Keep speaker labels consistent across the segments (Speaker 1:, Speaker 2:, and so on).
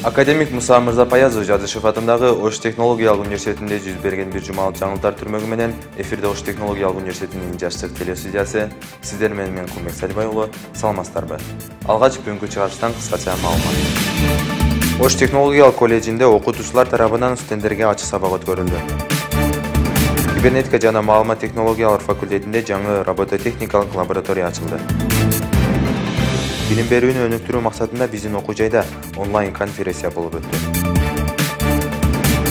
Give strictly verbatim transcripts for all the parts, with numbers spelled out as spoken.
Speaker 1: Академик Муса Мырзапаязов Жадышев атындагы Ош технологиялык университетинде жүз берген бир жумалык жаңылыктар түрмөгү менен эфирде Ош технологиялык университетинин жаштык телестудиясы. Сиздер менен мен Кумбек Салибай уулу, саламатсыздарбы? Алгач бүгүнкү чыгарыштан кыскача маалымат. Ош технологиялык колледжинде окутуучулар тарабынан студенттерге ачык сабак өткөрүлдү. Кибернетика жана маалымат технологиялар факультетинде жаңы робототехникалык лаборатория ачылды. Билим берүүнү өнүктүрүү максатында биздин окуу жайда онлайн конференция болуп өттү.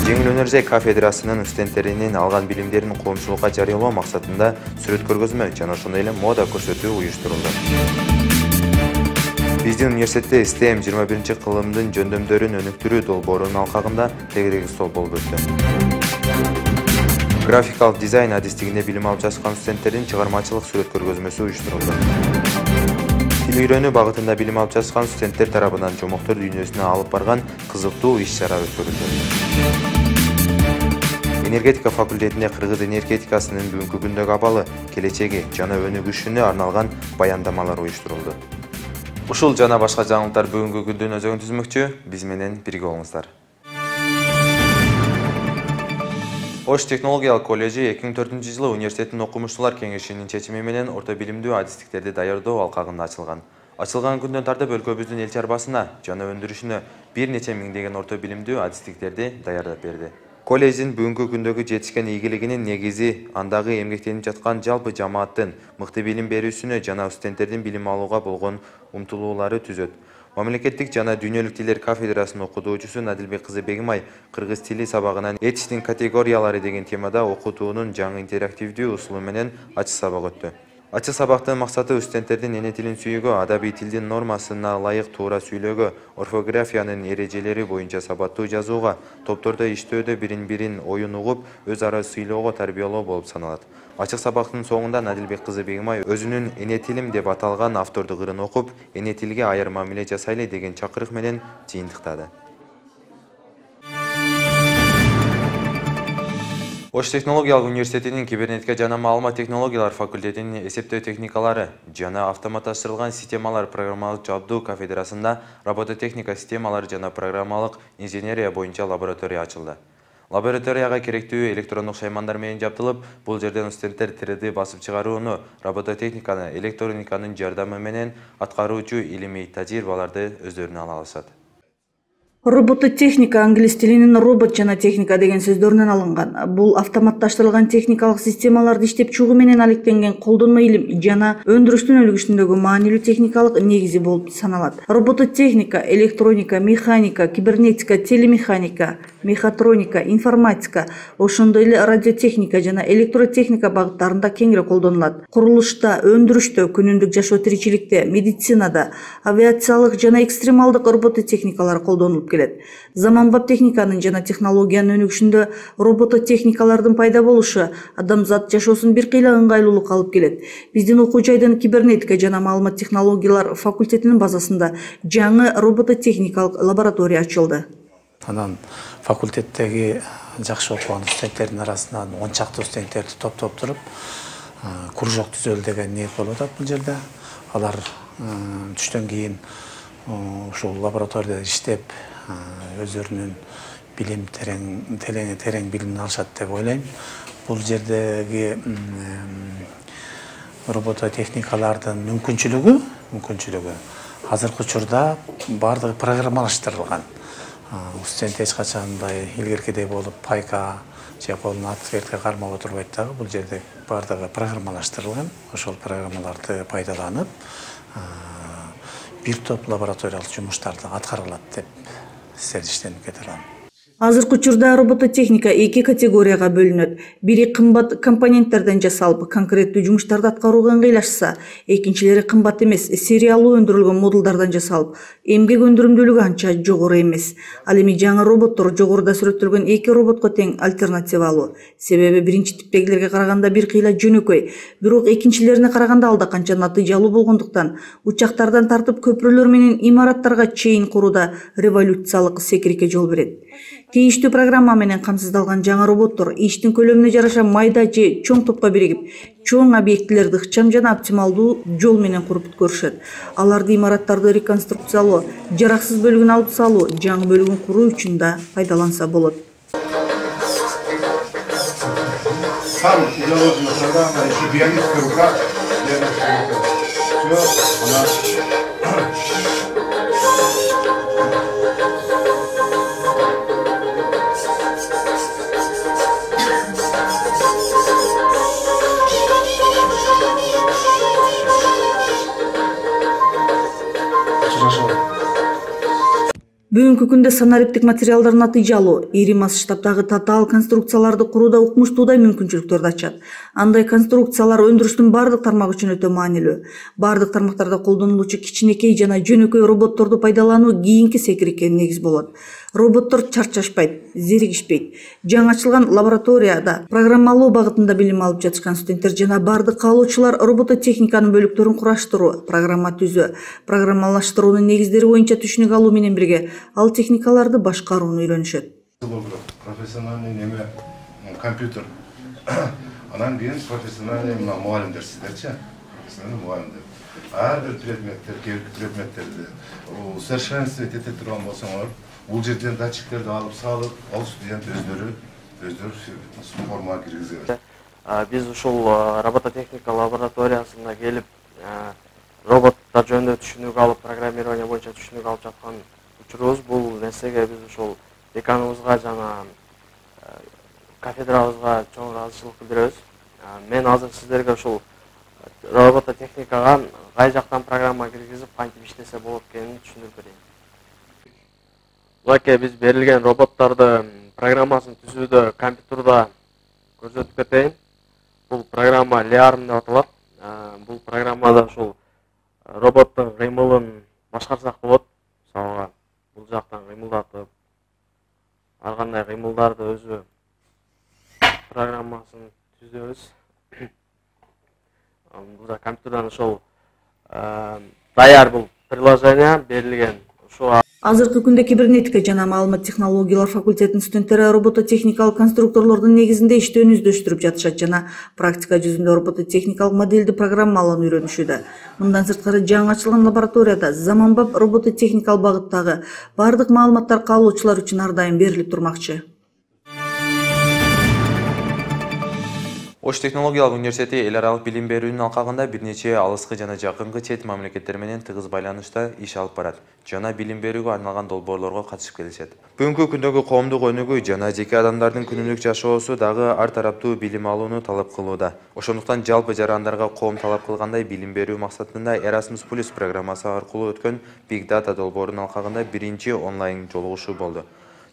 Speaker 1: Жеңил өнөр жай кафедрасынын студенттеринин алган билимдерин коомчулукка жарыялоо максатында сүрөт көргөзмө жана ошондой эле мода көрсөтүү уюштурулду. Биздин университетте STEM жыйырма биринчи кылымдын жөндөмдөрүн өнүктүрүү долбоорунун алкагында тегерек стол болуп өттү. Графикалык дизайн адистигинде билим алып жаткан студенттердин чыгармачылык сүрөт көргөзмөсү уюштурулду. Тил үйрөнүү багытында билим алып жаткан студенттер тарабынан жомоктор дүйнөсүнө алып барган кызыктуу иш-чара өткөрүлдү. Энергетика факультетинде кыргыз энергетикасынын бүгүнкү күндөгү абалы, келечеги жана өнүгүшүнө арналган баяндамалар уюштурулду. Ушул жана башка жаңылыктар бүгүнкү күндүн өзөгүн түзмөкчү. Биз менен бирге болуңуздар. Ош технологиялык колледжи эки миң төртүнчү жылы университеттин окумуштуулар кеңешинин чечими менен орто билимдүү адистиктерди даярдоо алкагында ачылган. Ачылган күндөн тартып өлкөбүздүн эл чарбасына жана өндүрүшүнө бир нече миңдеген орто билимдүү адистиктерди даярдап берди. Колледждин бүгүнкү күндөгү жетишкен ийгилигинин негизи андагы эмгектенип жаткан жалпы жамааттын мыкты билим берүүсүнө жана студенттердин билим алууга болгон умтулуулары түзөт. Мамлекеттик жана дүйнөлүк тилдер кафедрасынын окутуучусу Надилбек кызы Бегимай кыргыз тили сабагынан этичтин категориялары деген темада окутуунун жаңы интерактивдүү усулу менен ачык сабак өттү. Ачык сабактын максаты студенттердин эне тилин сүйүүгө, адабий тилдин нормасына ылайык туура сүйлөөгө, орфографиянын эрежелери боюнча сабаттуу жазууга, топтордо иштөөдө бирин-бирин оюн угуп, өз ара сыйлоого тарбиялоо болуп саналат. Ачык сабактын соңунда Надилбек кызы Бегимай өзүнүн эне тилим деп аталган автордук ырын окуп, эне тилге аяр мамиле жасайлы деген чакырык менен жыйынтыктады. Ош технологиялык университетинин кибернетика жана маалымат технологиялар факультетинин эсептөө техникалары жана автоматташтырылган системалар программалык жабдуу кафедрасында робототехника системалары жана программалык инженерия боюнча лаборатория ачылды. Лабораторияга керектүү электрондук шаймандар менен жабдылып, бул жерден студенттер три дэ басып чыгарууну, робототехниканы, электрониканын жардамы менен аткаруучу илимий тажрыйбаларды өздөрүнө ала алышат.
Speaker 2: Робототехника англис тилинин робот жана техника деген сөздөрүнөн алынган. Бул автоматташтырылган техникалык системаларды иштеп чыгуу менен алектенген колдонмо илим жана өндүрүштүн өнүгүшүндөгү маанилүү техникалык негизи болуп саналат. Робототехника, электроника, механика, кибернетика, телемеханика, мехатроника, информатика, ошондой эле радиотехника жана электротехника багыттарында кеңири колдонулат. Курулушта, өндүрүштө, күнүмдүк жашоо тиричиликте, медицинада, авиациялык жана экстремалдык робототехникалар колдонулат келет. Заманбап техниканын жана технологиянын өнүгүшүндө робототехникалардын пайда болушу адамзат жашоосун бир кыйла ыңгайлуулукка алып келет. Биздин окуу жайдын кибернетика жана маалымат технологиялар факультетинин базасында жаңы робототехникалык лаборатория ачылды.
Speaker 3: Анан факультеттеги жакшы окуган студенттердин арасынан он чакты студенттерди топтоп туруп, кружок түзөлү деген ниет болуп атат бул жерде. Алар түштөн кийин ушул лабораторияда иштеп, өздөрүнүн билим терең терең терең билимин алышат деп ойлойм. Бул жердеги робототехникалардын мүмкүнчүлүгү, мүмкүнчүлүгү азыркы учурда бардыгы программалаштырылган. Студент эч качандай илгеркидей болуп пайка же колун атып кармап отурбайт дагы. Бул жерде бардыгы программалаштырылган. Ошол программаларды пайдаланып бир топ лабораториялык жумуштарды аткара алат деп сериштенип кете алам.
Speaker 2: Азыркы учурда робототехника эки категорияга бөлүнөт. Бири кымбат компоненттерден жасалып, конкреттүү жумуштарды аткарууга ыңгайлашса, экинчилери кымбат эмес, сериялуу өндүрүлгөн модулдардан жасалып, эмгек өндүрүмдүүлүгү анча жогору эмес. Ал эми жаңы роботтор жогоруда сүрөттөлгөн эки роботко тең альтернативалуу. Себеби биринчи типтегилерге караганда бир кыйла жөнөкөй, бирок экинчилерине караганда алда канча натыйжалуу болгондуктан, учактардан тартып көпүрөлөр менен имараттарга чейин курууда революциялык секирикке жол берет. Тийиштүү программа менен камсыздалган жаңы роботтор иштин көлөмүнө жараша майда же чоң топко биригип, чоң объектилерди ыкчам жана оптималдуу жол менен куруп бүткөрүшөт. Аларды имараттарды реконструкциялоо, жараксыз бөлүгүн алып салуу, жаңы бөлүгүн куруу үчүн да пайдаланса болот.
Speaker 4: Там заложена программа, еще биологическая рука. Все, она...
Speaker 2: Бүгүнкү күндө санариптик материалдар натыйжалуу, ири масштабдагы татаал конструкцияларды курууда укмуштуудай мүмкүнчүлүктөрдү ачат. Андай конструкциялар өндүрүштүн бардык тармагы үчүн өтө маанилүү. Бардык тармактарда колдонулуучу кичинекей жана жөнөкөй роботторду пайдалануу кийинки секирикке негиз болот. Роботтор чарчашпайт, зеригишпейт. Жаңы ачылган лабораторияда программалоо багытында билим алып жатышкан студенттер жана бардык каалоочулар робототехниканын бөлүктөрүн кураштыруу, программа түзүү, программалаштыруунун негиздери боюнча түшүнүк алуу менен бирге ал техникаларды башкарууну үйрөнүшөт.
Speaker 4: Профессиональный неме компьютер. Анан кийин профессиональный мугалимдер сиздерчи? Профессиональный мугалимдер. Ар бир предметтер, кээинки предметтерди усовершенствовать эте турган болсоңор, бул жерден датчиктерди алып салып, ал студент өздөрү өздөрү формага киргизет.
Speaker 5: Биз ушул робототехника лабораториясына келип, роботтор жөнүндө түшүнүк алып, программирование боюнча түшүнүк алып жаткан учурубуз. Бул нерсеге биз ушул деканыбызга жана кафедрабызга чоң ыраазычылык билдиребиз. Мен азыр сиздерге ушул робототехникага кай жактан программа киргизип, кантип иштесе болот экенин түшүндүрүп берейин. Мынакей биз берилген роботторду программасын түзүүдө компьютерда көрсөтүп кетейин. Бул программа Liarm деп аталат. Бул программада ушул роботтун кыймылын башкарсак болот. Мисалга бул жактан кыймылдатып, ар кандай кыймылдарды өзү программасын түзөбүз. Бул да компьютерден ошол даяр бул приложение берилген. Ошо
Speaker 2: Азыркы күндө кибернетика жана маалымат технологиялар факультетинин студенттери робототехникалык конструкторлордун негизинде иштөөнү издөштүрүп жатышат жана практика жүзүндө робототехникалык модельди программалоону үйрөнүшүүдө. Мындан сырткары жаңы ачылган лабораторияда заманбап робототехникалык багыттагы бардык маалыматтар каалоочулар үчүн ар дайым берилип турмакчы.
Speaker 1: Ош технологиялык университети эл аралык билим берүүнүн алкагында бир нече алыскы жана жакынкы чет мамлекеттер менен тыгыз байланышта иш алып барат. Жана билим берүүгө арналган долбоорлорго катышып келишет. Бүгүнкү күндөгү коомдук өнүгүү жана жеке адамдардын күнүмдүк жашоосу дагы ар тараптуу билим алууну талап кылууда. Ошондуктан жалпы жарандарга коом талап кылгандай билим берүү максатында Erasmus Plus программасы аркылуу өткөн Big Data долбоорунун алкагында биринчи онлайн жолугушуу болду.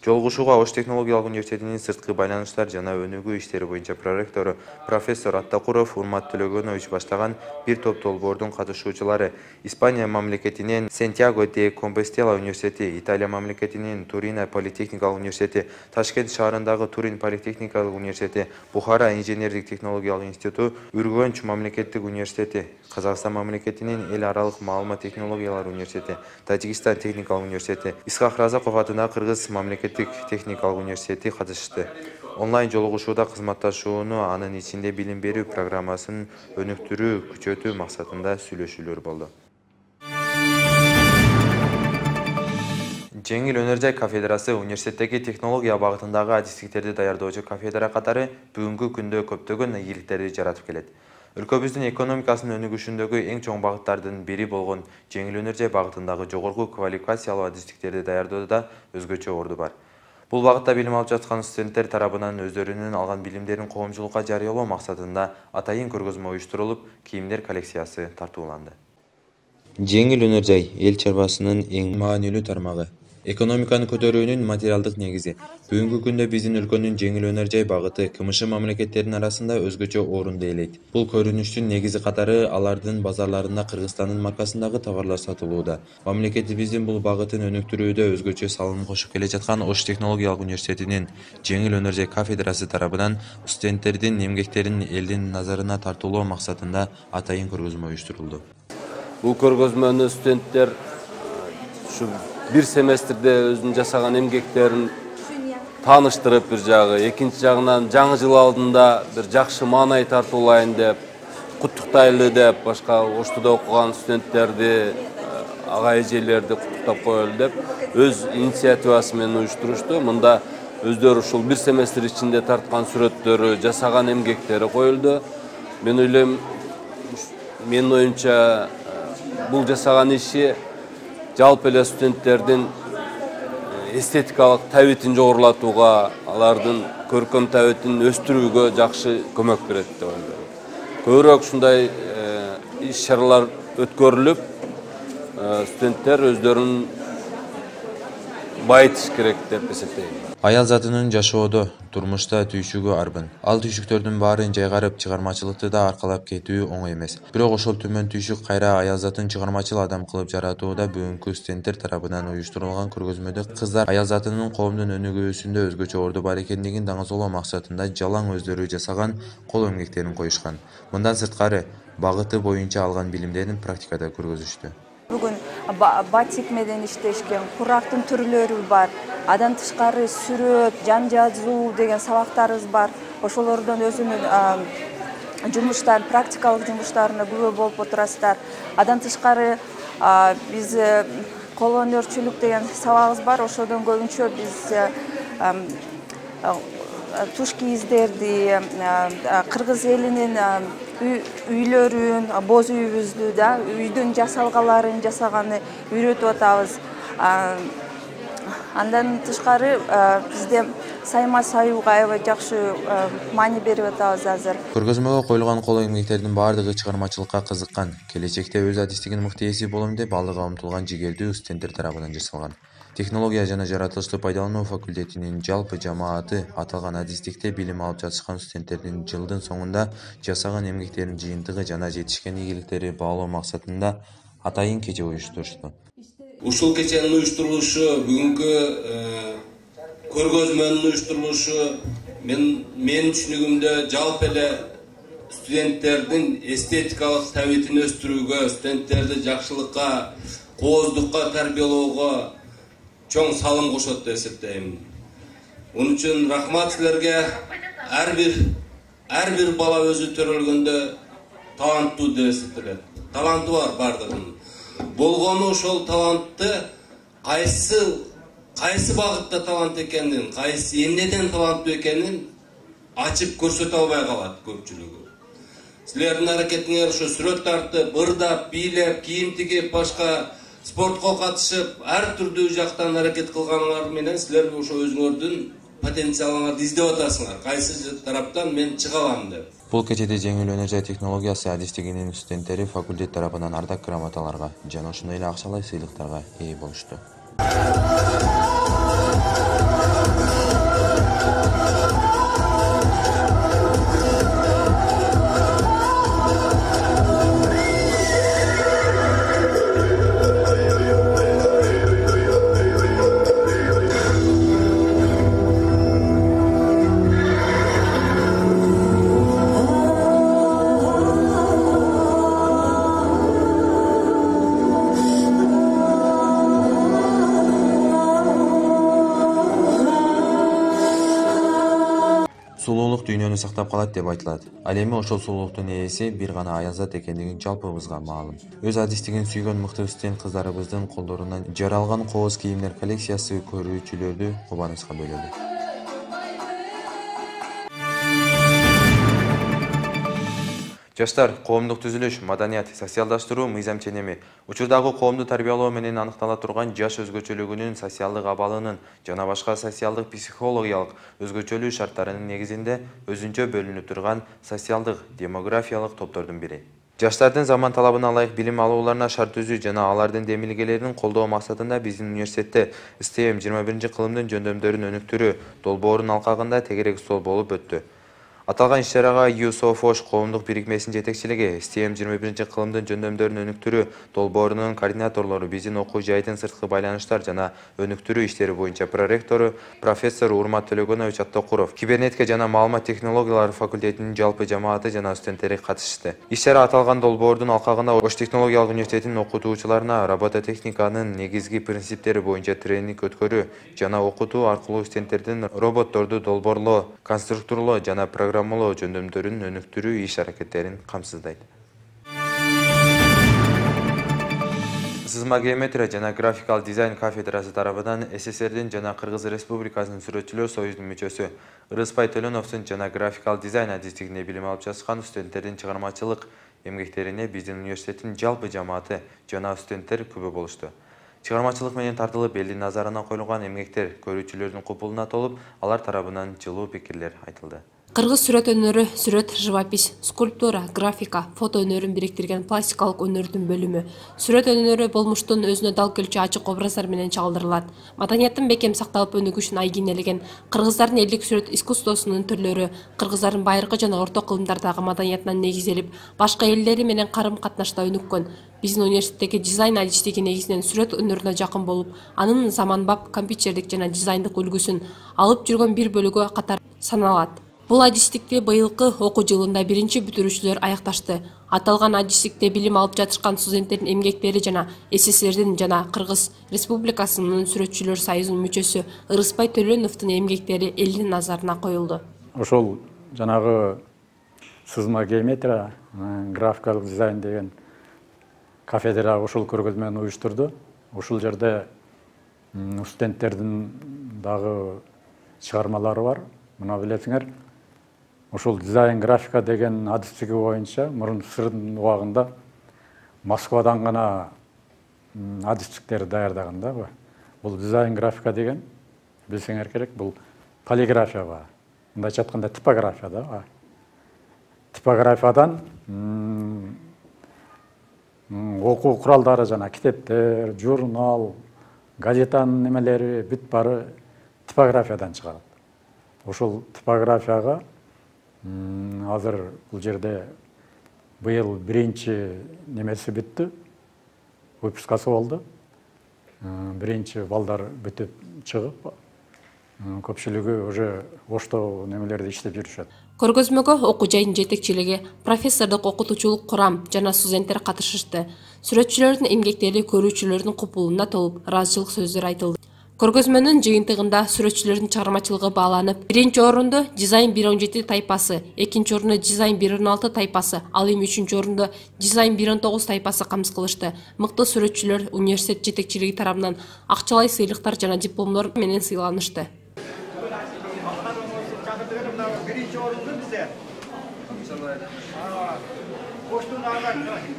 Speaker 1: Жолугушууга Ош технологиялык университетинин сырткы байланыштар жана өнүгүү иштери боюнча проректору профессор Аттакуров Урмат Төлөгөнович баштаган бир топ долбоордун катышуучулары Испания мамлекетинин Сантьяго де Компостела университети, Италия мамлекетинин Турино политехникалык университети, Ташкент шаарындагы Турин политехникалык университети, Бухара инженердик технологиялык институту, Үргөнч мамлекеттик университети, Казакстан мамлекетинин эл аралык маалымат технологиялар университети, Тажикстан техникалык университети, Исхак Разаков атындагы Кыргыз мамлекеттик техникалык университети катышты. Онлайн жолугушууда кызматташууну, анын ичинде билим берүү программасын өнүктүрүү, күчөтүү максатында сүйлөшүүлөр болду. Жеңил өнөр жай кафедрасы университеттеги технология багытындагы адистиктерди даярдоочу кафедра катары бүгүнкү күндө көптөгөн ийгиликтерди жаратып келет. Өлкөбүздүн экономикасынын өнүгүшүндөгү эң чоң багыттардын бири болгон жеңил өнөр жай багытындагы жогорку квалификациялуу адистиктерди даярдоодо өзгөчө орду бар. Бул багытта билим алып жаткан студенттер тарабынан өздөрүнүн алган билимдерин коомчулукка жарыялоо максатында атайын көргөзмө уюштурулуп, кийимдер коллекциясы тартууланды. Жеңил өнөр жай эл чарбасынын эң маанилүү тармагы. Экономиканы көтөрүүнүн материалдык негизи. Бүгүнкү күндө биздин өлкөнүн жеңил өнөр жай багыты КМШ мамлекеттеринин арасында өзгөчө орунду ээлейт. Бул көрүнүштүн негизи катары алардын базарларында Кыргызстандын маркасындагы товарлар сатылууда. Мамлекетибиздин бул багытын өнүктүрүүдө өзгөчө салым кошуп келе жаткан Ош технологиялык университетинин жеңил өнөр жай кафедрасы тарабынан студенттердин эмгектерин элдин назарына тартуулоо максатында атайын көргөзмө уюштурулду.
Speaker 6: Бул көргөзмөнү студенттер ушу бир семестрде өзүнүн жасаган эмгектерин тааныштырып бир жагы, экинчи жагынан жаңы жыл алдында бир жакшы маанай тартуулайын деп, куттуктайлы деп, башка Оштуда окуган студенттерди, ага эжелерди куттуктап коелу деп өз инициативасы менен уюштурушту. Мында өздөрү ушул бир семестр ичинде тарткан сүрөттөрү, жасаган эмгектери коюлду. Мен ойлойм, менин оюмча бул жасаган иши жалпы эле студенттердин эстетикалык табитин жогорулатууга, алардын көркөм табитин өстүрүүгө жакшы көмөк берет деп ойлойм. Көбүрөөк ушундай иш-чаралар өткөрүлүп, студенттер өздөрүн байытыш керек деп эсептейм.
Speaker 1: Аял затынын жашоодо, турмушта түйшүгү арбын. Ал түйшүктөрдүн баарын жайгарып, чыгармачылыкты да аркалап кетүү оңой эмес. Бирок ошол түмөн түйшүк кайра аял затын чыгармачыл адам кылып жаратууда бүгүнкү студенттер тарабынан уюштурулган көргөзмөдө кыздар аял затынын коомдун өнүгүүсүндө өзгөчө орду бар экендигин даңазалоо максатында жалаң өздөрү жасаган кол эмгектерин коюшкан. Мындан сырткары, багыты боюнча алган билимдерин практикада көргөзүштү.
Speaker 7: Бүгүн батик менен иштешкен, курактын түрлөрү бар. Адан тышкары сүрөт, жан жазуу деген сабактарыбыз бар. Ошолордон өзүнүн жумуштарын, практикалык жумуштарына күбө болуп отурасыздар. Адан тышкары биз кол өнөрчүлүк деген сабагыбыз бар. Ошодон көбүнчө биз туш кийиздерди, кыргыз элинин үйлөрүн, боз үйүбүздү да, үйдүн жасалгаларын жасаганы үйрөтүп атабыз. Андан тышкары бизде сайма саюуга аябай жакшы маани берип атабыз азыр.
Speaker 1: Көргөзмөгө коюлган кол эмгектердин баардыгы чыгармачылыкка кызыккан, келечекте өз адистигин мыкты эси болом деп алдыга умтулган жигердүү студенттер тарабынан жасалган. Технология жана жаратылышты пайдалануу факультетинин жалпы жамааты аталган адистикте билим алып жатышкан студенттердин жылдын соңунда жасаган эмгектеринин жыйынтыгы жана жетишкен ийгиликтери баалоо максатында атайын кече уюштурушту.
Speaker 6: Ушул кеченин уюштурулушу, бүгүнкү көргөзмөнүн уюштурулушу мен менин түшүнүгүмдө жалпы эле студенттердин эстетикалык табитин өстүрүүгө, студенттерди жакшылыкка, кооздукка тарбиялоого чоң салым кошот деп эсептейм. Onun үчүн рахмат силерге. Ар бир ар бир бала өзү төрөлгөндө таланттуу деп эсептелет. Таланты бар бардыгынын. Болгону ошол талантты кайсы кайсы багытта талант экенин, кайсы эмнеден таланттуу экенин ачып көрсөтө албай калат көпчүлүгү. Силердин аракетиңер ошо сүрөт тартып, ырдап, бийлеп, кийим тигип, башка спортко катышып, ар түрдүү жактан аракет кылганыңар менен силер ошо өзүңөрдүн потенциалыңарды издеп атасыңар. Кайсы тараптан мен чыга алам деп.
Speaker 1: Бул кечеде жеңил өнөр технологиясы адистигинин студенттери факультет тарабынан ардак грамоталарга жана ошондой эле акчалай сыйлыктарга ээ болушту. Сулуулук дүйнөнү сактап калат деп айтылат. Ал эми ошол сулуулуктун ээси бир гана аялзат экендигин жалпыбызга маалым. Өз адистигин сүйгөн мыкты студент кыздарыбыздын колдорунан жаралган кооз кийимдер коллекциясы көрүүчүлөрдү кубанычка бөлөдү. Жаштар, коомдук түзүлүш, маданият, социалдаштыруу мыйзам ченеми, учурдагы коомду тарбиялоо менен аныктала турган жаш өзгөчөлүгүнүн, социалдык абалынын жана башка социалдык психологиялык өзгөчөлүү шарттарынын негизинде өзүнчө бөлүнүп турган социалдык, демографиялык топтордун бири. Жаштардын заман талабына ылайык билим алууларына шарт түзүү жана алардын демилгелерин колдоо максатында биздин университетте СТМ жыйырма биринчи кылымдын жөндөмдөрүн өнүктүрүү долбоорунун алкагында тегерек стол болуп өттү. Аталган иш-чарага ЮСОФОШ коомдук бирикмесинин жетекчилиги, СТЕМ жыйырма биринчи кылымдын жөндөмдөрүн өнүктүрүү долбоорунун координаторлору, биздин окуу жайдын сырткы байланыштар жана өнүктүрүү иштери боюнча проректору профессор Урмат Төлөгөнович Аттокуров, кибернетика жана маалымат технологиялары факультетинин жалпы жамааты жана студенттери катышты. Иш-чара аталган долбоордун алкагында Ош технологиялык университетинин окутуучуларына робототехниканын негизги принциптери боюнча тренинг өткөрүү жана окутуу аркылуу студенттердин роботторду долбоорлоо, конструкторлоо жана программалоо жөндөмдөрүн өнүктүрүү иш-аракеттерин камсыздайт. Сызма геометрия жана графикалык дизайн кафедрасы тарабынан СССРдин жана Кыргыз Республикасынын сүрөтчүлөр союзунун мүчөсү Ырыспай Төлөновдун жана графикалык дизайн адистигинде билим алып жаткан студенттердин чыгармачылык эмгектерине биздин университеттин жалпы жамааты жана студенттер күбө болушту. Чыгармачылык менен тартылып элдин назарына коюлган эмгектер көрүүчүлөрдүн купулуна толуп, алар тарабынан жылуу пикирлер айтылды.
Speaker 8: Кыргыз сүрөт өнөрү, сүрөт, живопись, скульптура, графика, фото өнөрүн бириктирген пластикалык өнөрдүн бөлүмү. Сүрөт өнөрү болмуштун өзүнө дал келчү ачык образдар менен чагылдырылат. Маданияттын бекем сакталып өнүгүшүн айгинелеген кыргыздардын элдик сүрөт искусствосунун түрлөрү кыргыздардын байыркы жана орто кылымдардагы маданиятынан негизделип, башка элдери менен карым-катнашта өнүккөн. Биздин университеттеги дизайн адистиги негизинен сүрөт өнөрүнө жакын болуп, анын заманбап компьютердик жана дизайндык үлгүсүн алып жүргөн бир бөлүгү катары саналат. Бул адистикти быйылкы окуу жылында биринчи бүтүрүүчүлөр аякташты. Аталган адистикте билим алып жатышкан студенттердин эмгектери жана СССРдин жана Кыргыз Республикасынын сүрөтчүлөр союзунун мүчөсү Ырыспай Төлөновдун эмгектери элдин назарына коюлду.
Speaker 9: Ошол жанагы сызма геометрия, графикалык дизайн деген кафедра ушул көргөзмөнү уюштурду. Ушул жерде студенттердин дагы чыгармалары бар. Мына билесиңер, ушул дизайн графика деген адистиги боюнча мурун сырдын убагында Москвадан гана адистиктер даярдаган да. Бул дизайн графика деген билсеңер керек, бул полиграфия ба. Мындайча айтканда типография да. Типографиядан окуу куралдары жана китептер, журнал, газетанын немелери бүт бары типографиядан чыгарат. Ошол типографияга азыр бул жерде быйыл биринчи немеси бүттү, выпускасы болду. Биринчи балдар бүтүп чыгып, көпчүлүгү уже Ошто немелерди иштеп жүрүшөт.
Speaker 8: Көргөзмөгө окуу жайдын жетекчилиги, профессордук окутуучулук курам жана студенттер катышышты. Сүрөтчүлөрдүн эмгектери көрүүчүлөрдүн купулуна толуп, ыраазычылык сөздөр айтылды. Көргөзмөнүн жыйынтыгында сүрөтчүлөрдүн чыгармачылыгы бааланып, биринчи орунду дизайн бир он жети тайпасы, экинчи орунду дизайн бир он алты тайпасы, ал эми үчүнчү орунду дизайн бир он тогуз тайпасы камсыз кылышты. Мыкты сүрөтчүлөр университет жетекчилиги тарабынан акчалай сыйлыктар жана дипломдор менен сыйланышты.
Speaker 10: Биринчи орунду бизде Оштун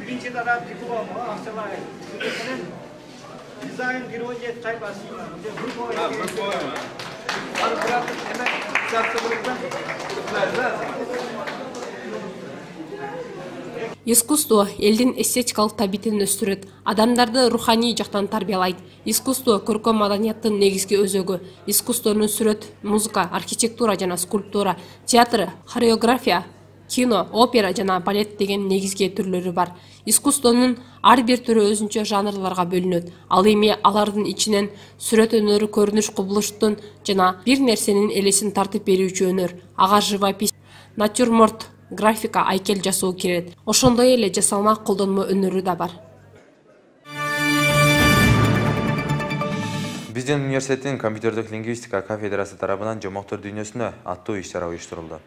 Speaker 10: биринчи тарап диплом акчалай дизайн бир он жети тайпасы.
Speaker 8: Искусство элдин эстетикалык табитин өстүрөт, адамдарды руханий жактан тарбиялайт. Искусство көркөм маданияттын негизги өзөгү. Искусствонун сүрөт, музыка, архитектура жана скульптура, театр, хореография, кино, опера жана балет деген негизги түрлөрү бар. Искусствонун ар бир түрү өзүнчө жанрларга бөлүнөт. Ал эми алардын ичинен сүрөт өнөрү көрүнүш кубулуштун жана бир нерсенин элесин тартып берүүчү өнөр, ага живопись, натюрморт, графика, айкел жасоо кирет. Ошондой эле жасалма колдонмо өнөрү да бар.
Speaker 1: Биздин университеттин компьютердик лингвистика кафедрасы тарабынан жомоктор дүйнөсүнө аттуу иш-чара уюштурулду.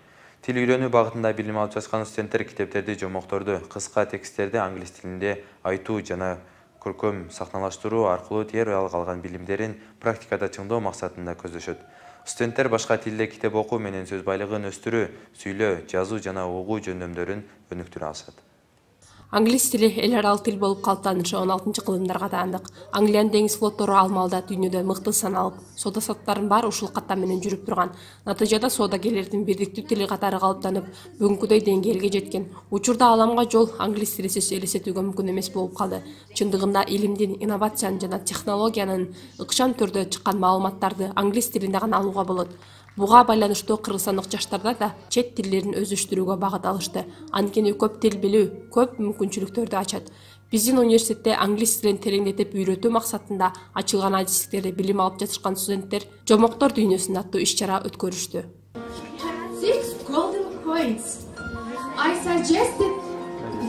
Speaker 1: Тил үйрөнүү багытында билим алып жаткан студенттер китептерди, жомокторду, кыска тексттерди англис тилинде айтуу жана көркөм сахналаштыруу аркылуу теориялык алган билимдерин практикада чыңдоо максатында көздөшөт. Студенттер башка тилде китеп окуу менен сөз байлыгын өстүрүү, сүйлөө, жазуу жана угуу жөндөмдөрүн өнүктүрө алышат.
Speaker 8: Англис тили эл аралык тил болуп калыптанышы он алтынчы кылымдарга таандык. Англиянын деңиз флоттору ал маалда дүйнөдө мыкты саналып, соода саттыктардын баары ушул каттам менен жүрүп турган. Натыйжада соодагерлердин бирдиктүү тили катары калыптанып, бүгүнкүдөй деңгээлге жеткен. Учурда аламга жол англис тилисиз элестетүүгө мүмкүн эмес болуп калды. Чындыгында илимдин, инновациянын жана технологиянын ыкчам түрдө чыккан маалыматтарды англис тилинде гана алууга болот. Буга байланыштуу кыргызстандык жаштарда да чет тилдерин өздөштүрүүгө багыт алышты. Анткени көп тил билүү көп мүмкүнчүлүктөрдү ачат. Биздин университетте англис тилин тереңдетип үйрөтүү максатында ачылган адистиктерде билим алып жатышкан студенттер Жомоктор дүйнөсүн аттуу иш-чара өткөрүштү.
Speaker 11: Six golden coins. I suggested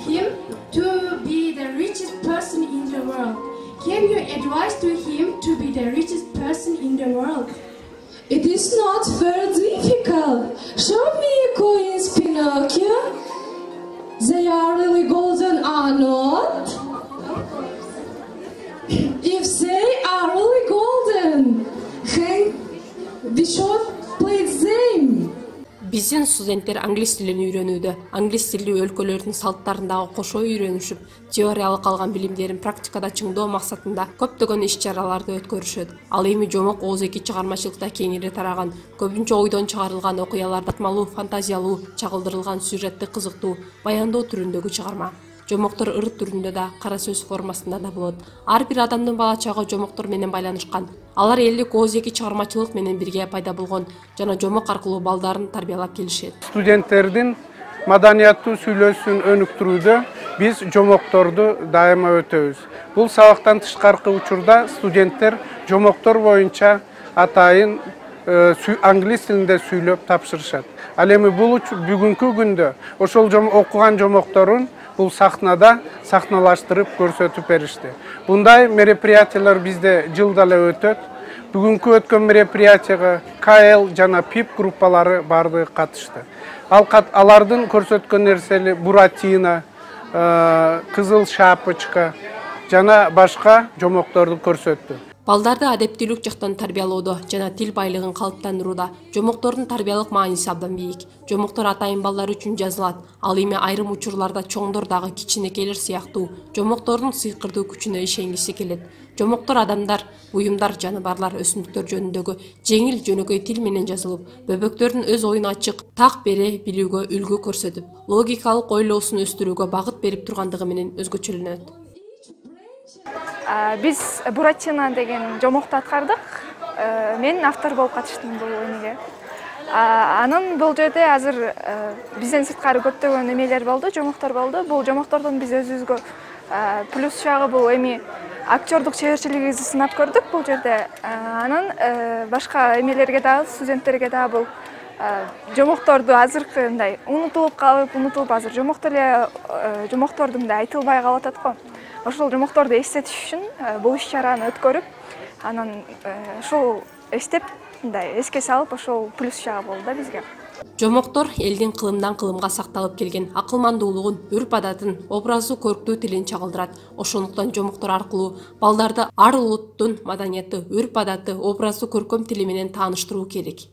Speaker 11: him to be the richest person in the world. Can you advise to him to be the richest person in the world?
Speaker 12: It is not very difficult. Show me coins, Pinocchio. They are really golden or not? If they are really golden, then we should play them.
Speaker 8: Биздин студенттер англис тилин үйрөнүүдө, англис тилдүү өлкөлөрдүн салттарындагы кошо үйрөнүшүп, теориялык алган билимдерин практикада чыңдоо максатында көптөгөн иш-чараларды өткөрүшөт. Ал эми Жомок Оз эки чыгармачылыкта кеңири тараган, көбүнчө ойдон чыгарылган окуяларды атмалуу, фантазиялуу, чагылдырылган сюжетти кызыктуу, баяндоо түрүндөгү чыгарма. Жомоктор ыр түрүндө да, кара сөз формасында да болот. Ар бир адамдын бала чагы жомоктор менен байланышкан. Алар элдик Оз эки чыгармачылык менен бирге пайда болгон жана жомок аркылуу балдарын тарбиялап келишет.
Speaker 13: Студенттердин маданияттуу сүйлөшүүсүн өнүктүрүүдө биз жомокторду дайыма өтөбүз. Бул сабактан тышкаркы учурда студенттер жомоктор боюнча атайын англис тилинде сүйлөп тапшырышат. Ал эми бул бүгүнкү күндө ошол окуган жомокторун бул сахнада сахналаштырып көрсөтүп беришти. Бундай мероприятиялар бизде жылда эле өтөт. Бүгүнкү өткөн мероприятияга К Л жана Пип группалары бардыгы катышты. Ал алардын көрсөткөн нерсели Буратино, Кызыл шапочка жана башка жомокторду көрсөттү.
Speaker 8: Балдарды адептүүлүк жактан тарбиялоодо жана тил байлыгын калыптандырууда жомоктордун тарбиялык мааниси абдан бийик. Жомоктор атайын балдар үчүн жазылат. Ал эми айрым учурларда чоңдор дагы кичинекейлер сыяктуу жомоктордун сыйкырдуу күчүнө ишенгиси келет. Жомоктор адамдар, буюмдар, жаныбарлар, өсүмдүктөр жөнүндөгү жеңил жөнөкөй тил менен жазылып, бөбөктөрдүн өз оюн ачык, так бере билүүгө үлгү көрсөтүп, логикалык ойлоосун өстүрүүгө багыт берип тургандыгы менен өзгөчөлөнөт.
Speaker 14: Биз Буратино деген жомокту аткардык. Мен автор болуп катыштым бул эмеге. Анын бул жерде азыр бизден сырткары көптөгөн эмелер болду, жомоктор болду. Бул жомоктордун биз өзүбүзгө плюс жагы бул эми актёрдук чеберчилигибизди сынап көрдүк бул жерде. Анын башка эмелерге дагы, студенттерге дагы бул жомокторду азыркы мындай унутулуп калып, унутулуп азыр жомоктор эле жомокторду мындай айтылбай калып атат го. Ошол жомокторду эстетиш үчүн бул иш-чараны өткөрүп, анан ошол эстеп, мындай эске салып, ошол плюс жагы болду да бизге.
Speaker 8: Жомоктор элдин кылымдан кылымга сакталып келген акылмандуулугун, үрп-адатын, образдуу көрктүү тилин чагылдырат. Ошондуктан жомоктор аркылуу балдарды ар улуттун маданияты, үрп-адаты, образдуу көркөм тили менен тааныштыруу керек.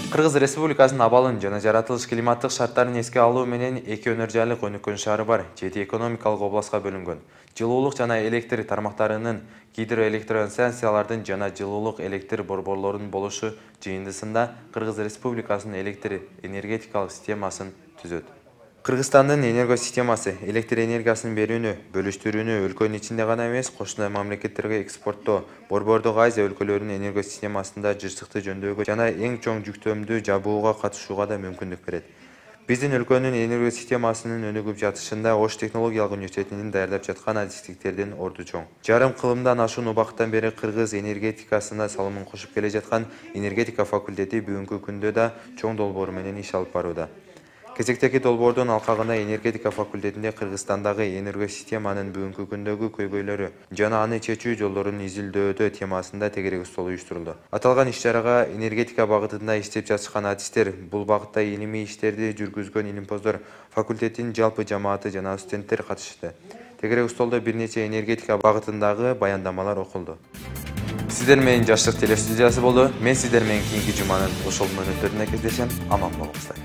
Speaker 1: Кыргыз Республикасынын абалын жана жаратылыш климаттык шарттарын эске алуу менен эки өнөр жайлык өнүккөн шаары бар, жети экономикалык областка бөлүнгөн. Жылуулук жана электр тармактарынын, гидроэлектростанциялардын жана жылуулук электр борборлорунун болушу жыйындысында Кыргыз Республикасынын электр энергетикалык системасын түзөт. Кыргызстандын энергосистемасы электр энергиясын берүүнү, бөлүштүрүүнү өлкөнүн ичинде гана эмес, кошуна мамлекеттерге экспорттоо, Борбордук Азия өлкөлөрүнүн энергосистемасында жырчыкты жөндөөгө жана эң чоң жүктөмдү жабууга катышууга да мүмкүндүк берет. Биздин өлкөнүн энергосистемасынын өнүгүп жатышында Ош технологиялык университетинин даярдап жаткан адистиктердин орду чоң. Жарым кылымдан ашуун убакыттан бери Кыргыз энергетикасына салымын кошуп келе жаткан энергетика факультети бүгүнкү күндө да чоң долбоор менен иш алып барууда. Кезектеги долбоордун алкагында энергетика факультетинде Кыргызстандагы энергосистеманын бүгүнкү күндөгү көйгөйлөрү жана аны чечүү жолдорун изилдөөдө темасында тегерек стол уюштурулду. Аталган иш-чарага энергетика багытында иштеп жатышкан адистер, бул багытта илимий иштерди жүргүзгөн илимпоздор, факультеттин жалпы жамааты жана студенттер катышты. Тегерек столдо бир нече энергетика багытындагы баяндамалар окулду. Сиздер менен Жаштык телестудиясы болду. Мен сиздер менен кийинки жуманын ошол мүнөттөрүндө кездешем. Аман болуңуздар.